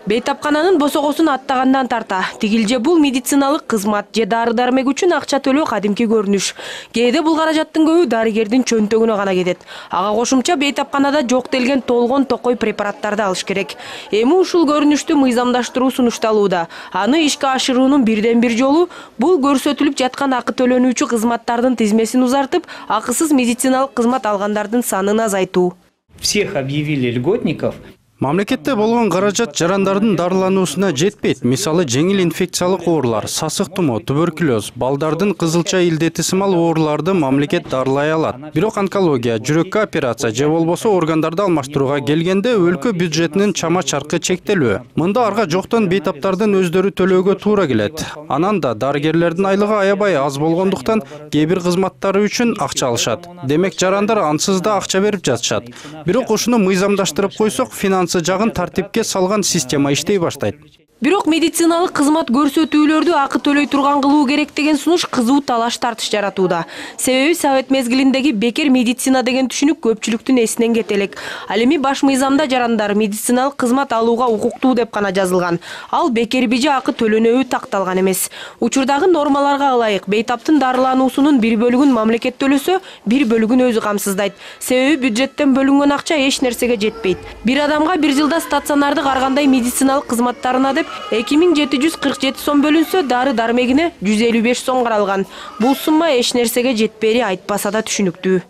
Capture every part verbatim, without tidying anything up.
Бейтапкананын босогосун аттагандан тарта тигил же бул медициналык кызмат же дары-дармек үчүн акча төлөө кадимки көрүнүш. Кээде бул каражаттын көбү дарыгердин чөнтөгүнө гана кетет. Ага кошумча бейтапканада жок делген толгон токой препараттарды алыш керек. Эми ушул көрүнүштү мыйзамдаштыруу сунушталууда. Аны ишке ашыруунун бирден бир жолу бул көрсөтүлүп жаткан акы төлөнүүчү кызматтардын тизмесин узартып, акысыз медициналык кызмат алгандардын санын азайтуу. Всех объявили льготников. Мамлекетте болгон каражат жарандардын дарылануусуна жетпейт. Мисалы, жеңил инфекциялык оорулар, сасык тумоо, туберкулез, балдардын кызылча илдети сымал ооруларды мамлекет дарылай алат. Бирок онкология, жүрөккө операция же болбосо органдарды алмаштырууга келгенде өлкө бюджетинин чама чаркы чектелүү. Мында арга жоктон бейтаптардын өздөрү төлөөгө туура келет. Анан да дарыгерлердин айлыгы аябай аз болгондуктан кээ бир кызматтары үчүн акча алышат. Демек жарандар ансыз да акча берип жатышат. Бирок ушуну мыйзамдаштырып койсок, финанс жагын тартипке салган система иштей баштайт. Бирок медициналык кызмат көрсөтүүлөрдү акы төлөй турган кылуу керек деген сунуш кызуу талаш тартыш жаратууда. Себеби совет мезгилиндеги бекер медицина деген түшүнүк көпчүлүктүн эсинен кете элек. Ал эми баш мыйзамда жарандар медициналык кызмат алууга укуктуу деп гана жазылган. Ал бекерби же акы төлөнөбү такталган эмес. Учурдагы нормаларга ылайык бейтаптын дарылануусунун бир бөлүгүн мамлекет төлөсө, бир бөлүгүн өзү камсыздайт. Себеби бюджеттен бөлүнгөн акча эч нерсеге жетпейт. Бир адамга бир жылда стационардык ар кандай медициналык кызматтарына деп эки миң жети жүз кырк жети сом бөлүнсө, дары-дармегине жүз элүү беш сом каралган. Бул сумма эч нерсеге жетпери айтпаса да түшүнүктүү.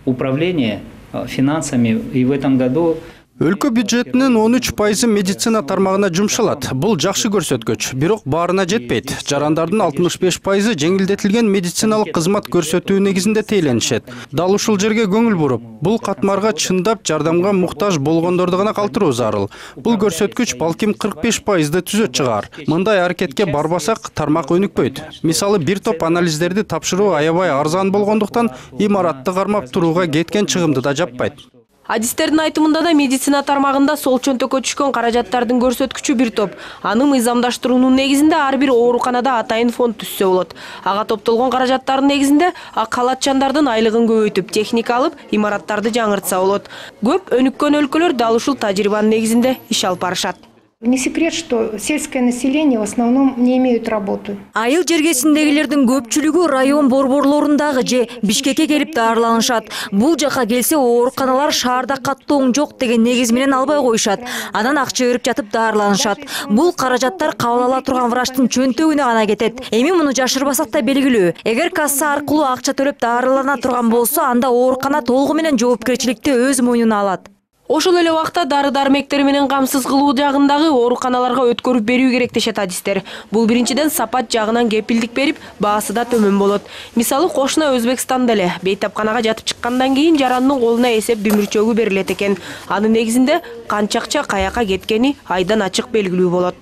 Управление финансами и в этом году Өлкө бюджетинин он үч пайызы медицина тармагына жумшалат. Бул жакшы көрсөткүч, бирок баарына жетпейт. Жарандардын алтымыш беш пайызы жеңилдетилген медициналык кызмат көрсөтүү негизинде тейлөнүшөт. Дал ушул жерге көңүл буруп, бул катмарга чындап жардамга муктаж болгондорду гана калтыруу зарыл. Бул көрсөткүч балким кырк беш пайызды түзөт чыгар. Мындай аракетке барбасак, тармак өнүкпөйт. Мисалы, бир топ анализдерди тапшыруу аябай арзан болгондуктан имаратты кармап турууга кеткен чыгымды да жаппайт. Адистердин айтымында да медицина тармагында сол чөнтөккө түшкөн каражаттардын көрсөткүчү бир топ. Аны мыйзамдаштыруунун негизинде ар бир ооруканада атайын фонд түзсө болот. Ага топтолгон каражаттардын негизинде калатчандардын айлыгын көбөйтүп, техника алып, имараттарды жаңыртса болот. Көп өнүккөн өлкөлөр дал ушул тажрыйбанын негизинде иш алып барышат. Не секрет, что сельское население в основном не имеют работы. Айыл жергесиндегилердин көпчүлүгү район борборлорундагы же Бишкекке келип дарыланышат. Бул жака келсе ооруканалар шаарда каттооң жок деген негиз менен албай коюшат. Анан акча берип жатып дарыланышат. Бул каражаттар кабыл ала турган врачтын чөнтөгүнө гана кетет. Эми муну жашырбасак да белгилүү. Эгер касса аркылуу акча төлөп дарылана турган болсо, анда оорукана толугу менен жоопкерчиликти өз мойнуна алат. Ошол эле убакта дары-дармектер менен камсыз кылуу жагындагы ооруканаларга өткөрүп берүү керек дешет адистер. Бул биринчиден сапат жагынан кепилдик берип, баасы да төмөн болот. Мисалы, кошуна Өзбекстанда эле бейтапканага жатып чыккандан кийин жарандын колуна эсеп дүмүрчөгү берилет экен. Анын негизинде канча акча каяка кеткени айдан ачык белгилүү болот.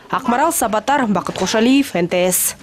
Акмарал Сабатар, Бакыт Кошалиев, эн тэ эс.